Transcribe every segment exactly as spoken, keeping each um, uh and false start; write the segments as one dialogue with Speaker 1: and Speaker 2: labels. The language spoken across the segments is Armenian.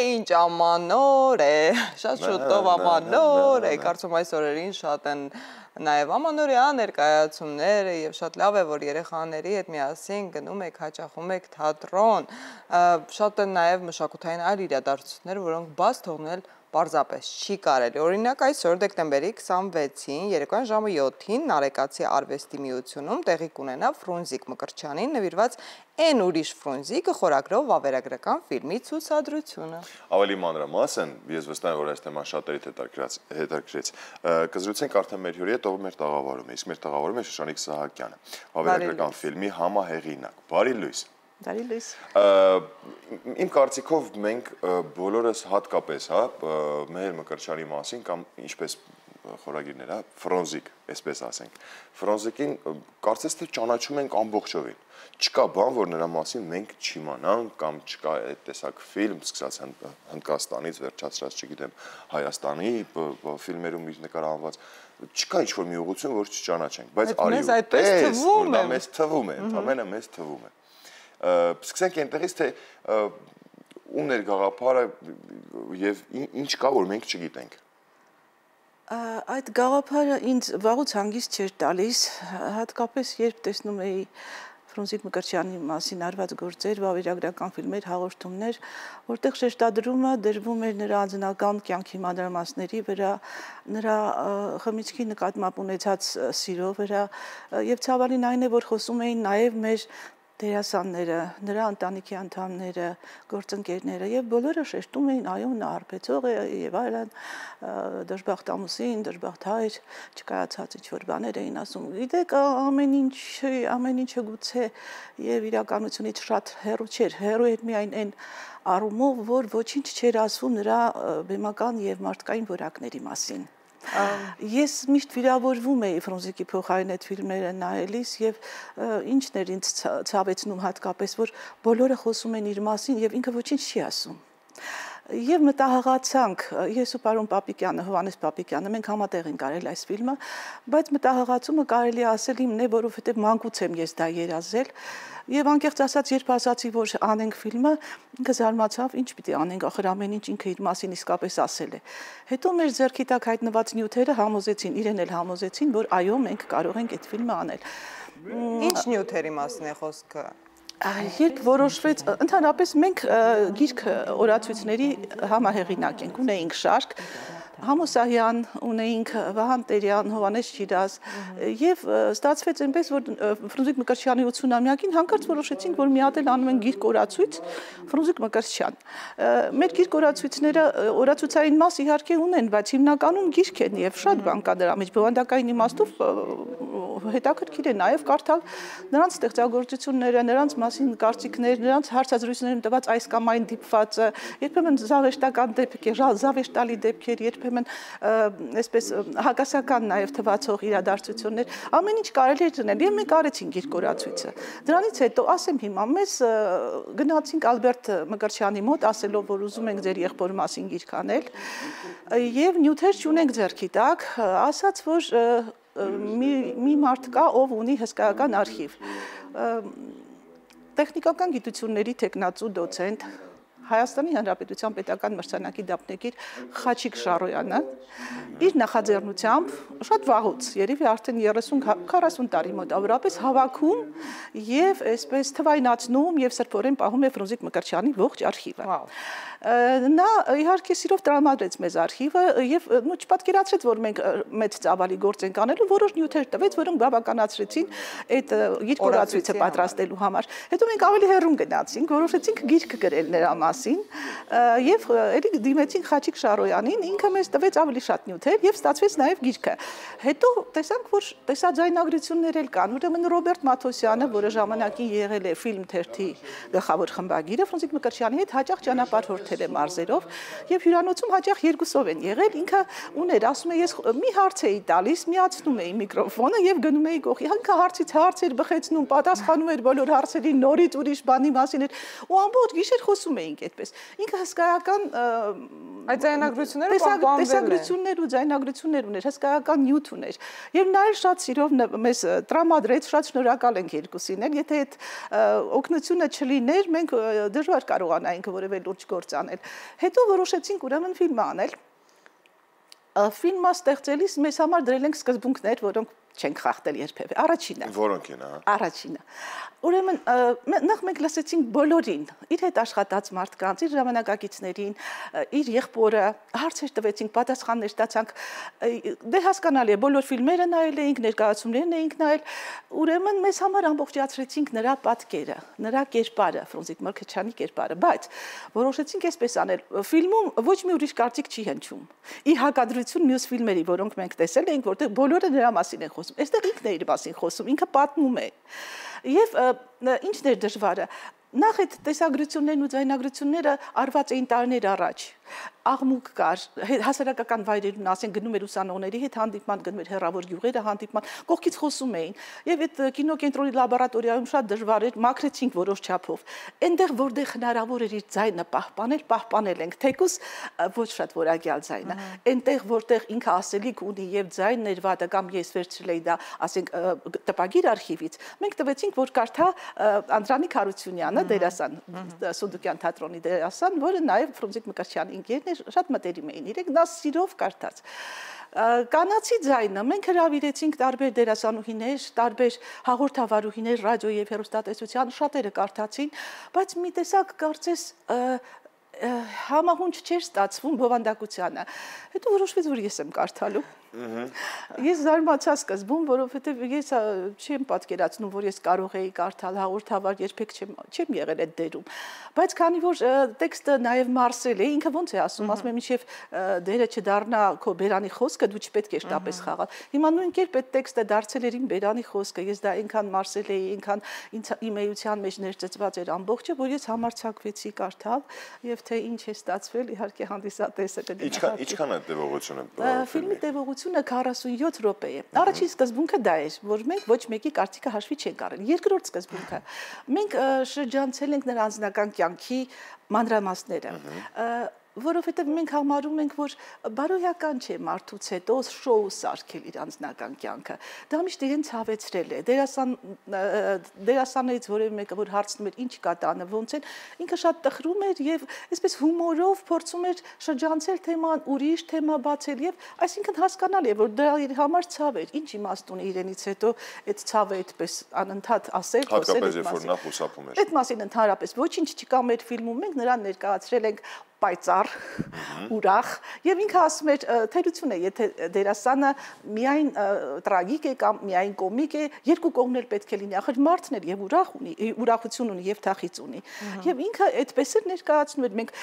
Speaker 1: ինչ ամանոր է, շատ շուտով ամանոր է, կարծում այս օրերին շատ են նաև ամանորյա ներկայացումները եւ շատ լավ է, որ երեխաների հետ միասին գնում եք, հաճախում եք թատրոն, շատ են նաև մշակութային այլ իրադարձություններ, որոնք բաց թողնել պարզապես չի կարելի։ Օրինակ այսօր դեկտեմբերի քսանվեցին երեկոյան ժամը յոթին Նարեկացի արվեստի միությունում տեղի կունենա Ֆրունզիկ Մկրտչյանին նվիրված Էն ուրիշ Ֆրունզիկը խորագրով վավերագրական ֆիլմի ցուցադրությունը։
Speaker 2: Ավելի մանրամասն, ես վստահ եմ, որ այս թեման շատերիդ հետաքրքրեց։ Կզրուցենք արդեն մեր հյուրի հետ, ով մեր տաղավարում է, իսկ մեր տաղավարում է Շուշանիկ Սահակյանը, վավերագրական ֆիլմի համահեղինակ։ Բարի լույս։
Speaker 1: Բարի լույս։
Speaker 2: Իմ կարծիքով մենք բոլորս հատկապես, հա, Մեհեր Մկրտչյանի մասին կամ ինչպես խորագիրներ, հա, Ֆրունզիկ, այսպես ասենք։ Ֆրունզիկին կարծես թե ճանաչում ենք ամբողջովին։ Չկա բան, որ նրա մասին մենք չիմանանք կամ չկա այդ տեսակ ֆիլմ, սկսած Հնդկաստանից, վերջացրած, չգիտեմ, Հայաստանի ֆիլմերում իր նկարահանված, չկա ինչ-որ մի ուղղություն, որ չճանաչենք, բայց արիուտես, որ դա մեզ թվում է, ընդամենը մեզ թվում է։ Սկսենք այնտեղից, թե ում էր գաղափարը եւ ինչ կա, որ մենք չգիտենք։
Speaker 3: Այդ գաղափարը ինձ վաղուց հանգիստ չէր տալիս, հատկապես երբ տեսնում էի Ֆրունզիկ Մկրտչյանի մասին արված գործեր, վավերագրական ֆիլմեր, հաղորդումներ, որտեղ շեշտադրումը դրվում էր նրա անձնական կյանքի մանրամասների վրա, նրա խմիչքի նկատմամբ ունեցած սիրո վրա, եւ ցավալին այն է, որ խոսում էին նաեւ մեր դերասանները, նրա ընտանիքի անդամները, գործընկերները եւ բոլորը շեշտում էին, այո, նա արբեցող է եւ այլն, դժբախտ ամուսին, դժբախտ հայր, չկայացած ինչ-որ բաներ էին ասում։ Գիտեք, ամեն ինչ, ամեն ինչը գուցե եւ իրականությունից շատ հեռու չէր, հեռու էր միայն այն առումով, որ ոչինչ չէր ասվում նրա բեմական եւ մարդկային որակների մասին։ Ես միշտ վիրավորվում էի Ֆրունզիկի փոխարեն այդ ֆիլմերը նայելիս եւ ինչն էր ինձ ցավեցնում հատկապես, որ բոլորը խոսում են իր մասին եւ ինքը ոչինչ չի ասում։ Եվ մտահղացանք, ես ու պարոն Պապիկյանը, Հովհաննես Պապիկյանը, մենք համատեղ ենք արել այս ֆիլմը, բայց մտահղացումը կարելի է ասել իմն է, որովհետև մանկուց եմ ես դա երազել, եւ անկեղծ ասած, երբ ասացի, որ անենք ֆիլմը, ինքը զարմացավ, ինչ պիտի անենք, ախր ամեն ինչ ինքը իր մասին իսկապես ասել է։ Հետո մեր ձեռքի տակ հայտնված նյութերը համոզեցին, իրեն էլ համոզեցին, որ այո, մենք կարող ենք այդ ֆիլմը անել։
Speaker 1: Ինչ նյութերի մասին է խոսքը։
Speaker 3: Երբ որոշվեց, ընդհանրապես մենք գիրք օրացույցների համահեղինակ ենք, ունեինք շարք, Համոսահյան, ունեինք Վահան Տերյան, Հովհաննես Շիրազ եւ ստացվեց այնպես, որ Ֆրունզիկ Մկրտչյանի ութսունամյակին հանկարծ որոշեցինք, որ մի հատ էլ անում են գիրք օրացույց Ֆրունզիկ Մկրտչյան։ Մեր գիրք օրացույցները օրացույցային մաս իհարկե ունեն, բայց հիմնականում գիրք են եւ շատ բան կա դրա մեջ, բովանդակային իմաստով հետաքրքիր է նաեւ կարդալ նրանց ստեղծագործությունները, նրանց մասին կարծիքներ, նրանց հարցազրույցներում տված այս կամ այն դիպվածը, երբեմն զավեշտական դեպքեր, զավեշտալի դեպքեր, երբեմն այսպես հակասական նաեւ թվացող իրադարձություններ, ամեն ինչ կարելի է դնել, եւ մենք արեցինք գիրք օրացույցը։ Դրանից հետո ասեմ հիմա մեզ գնացինք Ալբերտ Մկրտչյանի մոտ, ասելով, որ ուզում ենք ձեր եղբոր մասին գիրք անել, եւ նյութեր չունենք ձեռքի տակ, ասաց, որ մի, մի մարդ կա, ով ունի հսկայական արխիվ։ Տեխնիկական գիտությունների թեկնածու դոցենտ, Հայաստանի Հանրապետության պետական մրցանակի դափնեկիր Խաչիկ Շարոյանը իր նախաձեռնությամբ շատ վաղուց, երևի արդեն երեսուն քառասուն տարի մոտավորապես հավաքում եւ այսպես թվայնացնում եւ սրբորեն պահում է Ֆրունզիկ Մկրտչյանի ողջ արխիվը։ Նա իհարկե սիրով տրամադրեց մեզ արխիվը եւ նո չպատկերացրեց, որ մենք մեծ ծավալի գործ ենք անելու, որոշ նյութեր տվեց, որոնք բավականացրեցին այդ գիրք օրացույցը պատրաստելու համար։ Հետո մենք ավելի հեռուն գնացինք, որոշեցինք գիրք գրել նրա մասին եւ էլի դիմեցինք Խաչիկ Շարոյանին, ինքը մեզ տվեց ավելի շատ նյութեր եւ ստացվեց նաեւ գիրքը։ Հետո տեսանք, որ տեսաձայնագրություններ էլ կան, ուրեմն Ռոբերտ Մաթոսյանը, որը ժամանակին եղել է ֆիլմ թերթի գլխավոր խմբագիրը, Ֆրունզիկ Մկրտչյանի հետ հաճախ ճանապարհորդել է մարզերով եւ հյուրանոցում հաճախ երկուսով են եղել, ինքը ուներ, ասում է, ես մի հարց էի տալիս, միացնում էի միկրոֆոնը եւ գնում էի գողի, ինքը հարցից հարցեր բխեցնում, պատասխանում էր բոլոր հարցերին, նորից ուրիշ բանի մասին էր ու ամբողջ գիշեր խոսում էինք այդպես։ Ինքը հսկայական
Speaker 1: այդ ձայնագրությունները պահպանվել են։
Speaker 3: Տեսագրություններ ու ձայնագրություններ ուներ, հսկայական նյութ ուներ։ Եվ նա էլ շատ սիրով մեզ տրամադրեց, շատ շնորհակալ ենք երկուսին էլ, եթե այդ օգնությունը չլիներ, մենք դժվար կարողանայինք որևէ լուրջ գործ անել։ Հետո որոշեցինք ուրեմն ֆիլմ անել։ Ֆիլմը ստեղծելիս մեզ համար դրել ենք սկզբունքներ, որոնք չենք խախտել երբևէ։ Առաջինը։
Speaker 2: Որոնք են, հա։
Speaker 3: Առաջինը։ Ուրեմն նախ մենք լսեցինք բոլորին, իր հետ աշխատած մարդկանց, իր ժամանակակիցներին, իր եղբորը, հարցեր տվեցինք, պատասխաններ ստացանք։ Դե հասկանալի է, բոլոր ֆիլմերը նայել էինք, ներկայացումներն էինք նայել, ուրեմն մեզ համար ամբողջացրեցինք նրա պատկերը, նրա կերպարը, Ֆրունզիկ Մկրտչյանի կերպարը, բայց որոշեցինք այսպես անել, ֆիլմում ոչ մի ուրիշ կարծիք չի հնչում։ Ի հակադրություն մյուս ֆիլմերի, որոնք մենք տեսել էինք, որտեղ բոլորը նրա մասին են խոսում։ Այստեղ ինքն է իր մասին խոսում, ինքը պատմում է։ Եվ ինչն էր դժվարը, նախ այդ տեսագրություններն ու ձայնագրությունները արված էին տարիներ առաջ, աղմուկ կար, հասարակական վայրերում, ասեն գնում էր ուսանողների հետ հանդիպման, գնում էր հեռավոր գյուղերը հանդիպման, կողքից խոսում էին, եւ այդ կինոկենտրոնի լաբորատորիայում շատ դժվար էր, մաքրեցինք որոշ չափով, այնտեղ որտեղ հնարավոր էր իր ձայնը պահպանել, պահպանել ենք, թեկուզ ոչ շատ որակյալ ձայնը, այնտեղ որտեղ ինքը ասելիք ունի եւ ձայնն էր վատը կամ ես վերցրել էի դա, ասենք տպագիր արխիվից, մենք տվեցինք, որ կարդա Անդրանիկ Հարությունյանը, դերասան, Սունդուկյան թատրոնի դերասան, որը նաեւ Ֆրունզիկ Մկրտչյանի ընկերն էր, շատ մտերիմ էին իրենք, նա սիրով կարդաց։ Կանացի ձայնը մենք հրավիրեցինք տարբեր դերասանուհիներ, տարբեր հաղորդավարուհիներ ռադիո եւ հեռուստատեսության, շատերը կարդացին, բայց մի տեսակ կարծես համահունչ չէր ստացվում բովանդակությանը։ Հետո որոշվեց, որ ես եմ կարդալու։ Ես զարմացա սկզբում, որովհետև ես չեմ պատկերացնում, որ ես կարող էի կարդալ հաղորդավար, երբեք չեմ եղել այդ դերում։ Բայց քանի որ տեքստը նաև մարսել է, ինքը ոնց է ասում, ասում է մինչև դերը չդառնա քո բերանի խոսքը, դու չպետք է շտապես խաղալ։ Հիմա նույն կերպ այդ տեքստը դարձել էր իմ բերանի խոսքը, ես դա այնքան մարսել էի, այնքան իմ էության մեջ ներծծված էր ամբողջը, որ ես համարձակվեցի կարդալ եւ թե ինչ է ստացվել, իհարկե հանդիսատեսը կդիմացի։
Speaker 2: Ինչքան է տևողությունը։
Speaker 3: Ֆիլմի տևողությունը քառասունյոթ րոպե է։ Առաջին սկզբունքը դա էր, որ մենք ոչ մեկի կարծիքը հաշվի չենք առել։ Երկրորդ սկզբունքը մենք շրջանցել ենք նրա անձնական կյանքի մանրամասները, որովհետև մենք համարում ենք, որ բարոյական չէ մարդուց հետո շոու սարքել իր անձնական կյանքը։ Դա միշտ իրեն ցավեցրել է։ Դերասան դերասաններից որևէ մեկը, որ հարցնում էր ինչ կա տանը, ոնց են, ինքը շատ տխրում էր եւ այսպես հումորով փորձում էր շրջանցել թեման, ուրիշ թեմա բացել եւ այսինքն հասկանալի է, որ դա իր համար ցավ էր։ Ինչ իմաստ ունի իրենից հետո այդ ցավը այդպես անընդհատ ասել, խոսել այդ մասին։
Speaker 2: Նա խուսափում էր։
Speaker 3: Այդ մասին ընդհանրապես ոչինչ չկա մեր ֆիլմում, մենք նրան ներկայացրել ենք պայծառ, ուրախ, եւ ինքը ասում էր թերություն է, եթե դերասանը միայն տրագիկ է կամ միայն կոմիկ է, երկու կողմն էլ պետք է լինի, ախր մարդն էլ եւ ուրախ ունի, ուրախություն ունի եւ թախիծ ունի։ Եվ ինքը այդպես էր ներկայացնում էր, մենք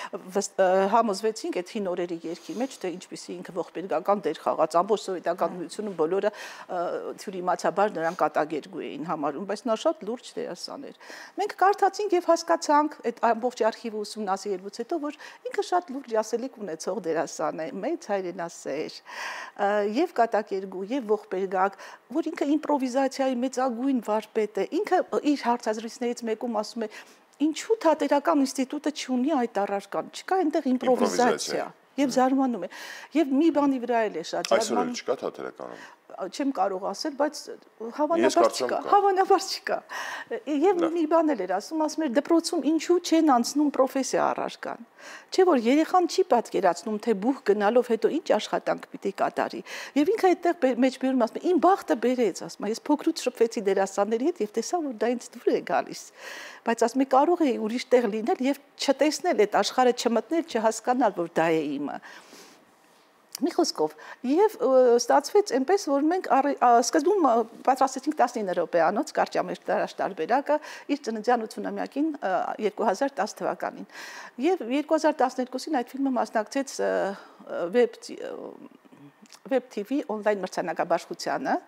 Speaker 3: համոզվեցինք այդ հին օրերի երգի մեջ, թե ինչպեսի ինքը ողբերգական դեր խաղաց, ամբողջ սովետական միությունը բոլորը թյուրիմացաբար նրան կատակերգու էին համարում, բայց նա շատ լուրջ դերասան էր։ Մենք կարդացինք եւ հասկացանք այդ ամբողջ արխիվը ուսումնասիրելուց հետո, որ ինքը շատ լուրջ ասելիք ունեցող դերասան է, մեծ հայրենասեր եւ կատակերգու եւ ողբերգակ, որ ինքը իմպրովիզացիայի մեծագույն վարպետ է։ Ինքը իր հարցազրույցներից մեկում ասում է. ինչու թատերական ինստիտուտը չունի այդ առարկան, չկա այնտեղ իմպրովիզացիա։ Եվ զարմանում է։ Եվ մի բանի վրա էլ է շատ
Speaker 2: զարմանում։ Այսօր չկա թատերականում։
Speaker 3: Չեմ կարող ասել, բայց հավանաբար չկա, հավանաբար չկա։ Եվ մի բան էլ էր ասում, ասում էր դպրոցում ինչու չեն անցնում պրոֆեսիա առարկան։ Չէ՞ որ երեխան չի պատկերացնում, թե բուհ գնալով հետո ինչ աշխատանք պիտի կատարի։ Եվ ինքը այդտեղ մեջբերում ասում է, իմ բախտը բերեց, ասում է, ես փոքրուց շփվեցի դերասանների հետ եւ տեսա, որ դա ինձ դուր է գալիս։ Բայց ասում է, կարող էի ուրիշ տեղ լինել եւ չտեսնել այդ աշխարհը, չմտնել, չհասկանալ, որ դա է իմը։ Մի խոսքով, եւ ստացվեց այնպես, որ մենք սկզբում պատրաստեցինք տասնինը րոպեանոց կարճամեջ տարաշտարբերակը իր ծննդյան ութսունամյակին երկու հազար տասը թվականին։ Եվ երկու հազար տասներկուսին այդ ֆիլմը մասնակցեց Web Web T V on-line մրցանակաբաշխությանը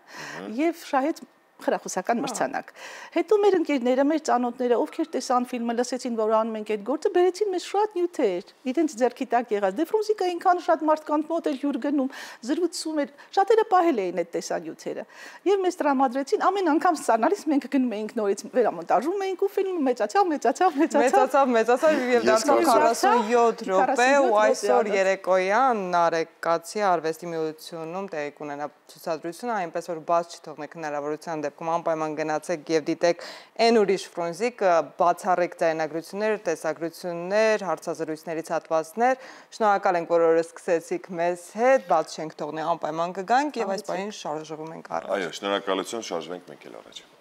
Speaker 3: եւ շահեց խրախուսական մրցանակ։ Հետո մեր ընկերները, մեր ծանոթները, ովքեր տեսան ֆիլմը, լսեցին, որ անում ենք այդ գործը, բերեցին մեզ շատ նյութեր, իրենց ձեռքի տակ եղած։ Դե Ֆրունզիկը այնքան շատ մարդկանց մոտ էր հյուր գնում, զրուցում էր, շատերը պահել էին այդ տեսանյութերը։ Եվ մեզ տրամադրեցին, ամեն անգամ ստանալիս մենք գնում էինք նորից վերամոնտաժում էինք ու ֆիլմը մեծացավ, մեծացավ, մեծացավ,
Speaker 1: մեծացավ, մեծացավ եւ դարձավ քառասունյոթ րոպե ու այսօր երեկոյան Նարեկացի արվեստի միությունում տեղի կունենա ցուցադրությունը, այնպես որ բաց չթողնեք հնարավորության դեպքում անպայման գնացեք եւ դիտեք այն ուրիշ Ֆրունզիկ, բացառիկ ձայնագրություններ, տեսագրություններ, հարցազրույցներից հատվածներ։ Շնորհակալ ենք, որ օրը սկսեցիք մեզ հետ, բաց չենք թողնի, անպայման կգանք եւ այս բանին շարժվում ենք առաջ։
Speaker 2: Այո, շնորհակալություն, շարժվենք մենք էլ առաջ։